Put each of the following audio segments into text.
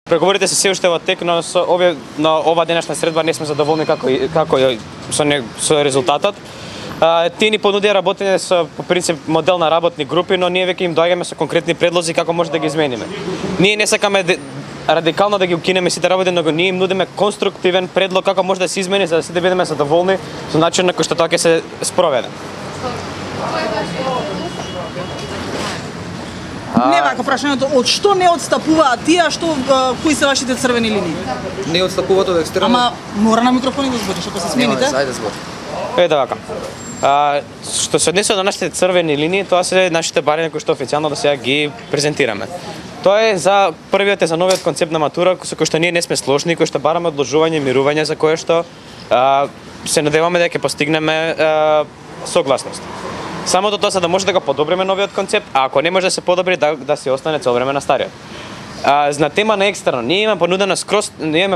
Преговорите се се уште во тек, но на ова денешна средба не сме задоволни како со резултатот. Тие ни понудија работење со по принцип модел на работни групи, но ние веќе им доаѓаме со конкретни предлози како може да ги измениме. Ние не сакаме радикално да ги укинеме сите работи, но ние им нудиме конструктивен предлог како може да се измени за да сите бидеме задоволни со начинот на кој што тоа ќе се спроведе. Не вака прашањето, од што не отстапуваат тие, кои се вашите црвени линии? Не отстапуваат од екстерно. Ама мора на микрофони да збориш, ако се смените. Ајде збор. Вака. Што се однесува на нашите црвени линии, тоа се нашите барања кои што официјално до сега ги презентираме. Тоа е за првиот е за новиот концепт на матура со кој што ние не сме сложни, кој што бараме одложување, мирување за кое што се надеваме дека ќе постигнеме согласност. Самото тоа за да може да го подобриме новиот концепт, а ако не може да се подобри да се остане цело време на стариот. На тема на екстерно, ние имаме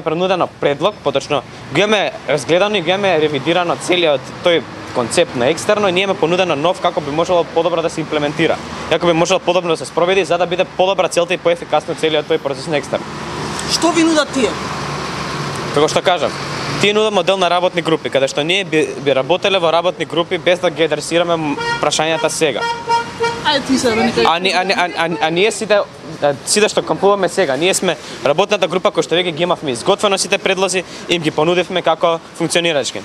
принудено предлог, поточно го имаме разгледано и го имаме ревидирано целиот тој концепт на екстерно и ние имаме понудено нов како би можело подобро да се имплементира. Како би можело подобро да се спроведи за да биде подобра целта и поефикасно целиот тој процес на екстерно. Што ви нудат тие? Како што кажам, тие нудат модел на работни групи, каде што ние би работеле во работни групи без да ги адресираме прашањата сега. Ајде ти се нека. Ние сите што кампуваме сега, ние сме работната група која што веќе ги имавме изготвено сите предлози и им ги понудивме како функционирачки.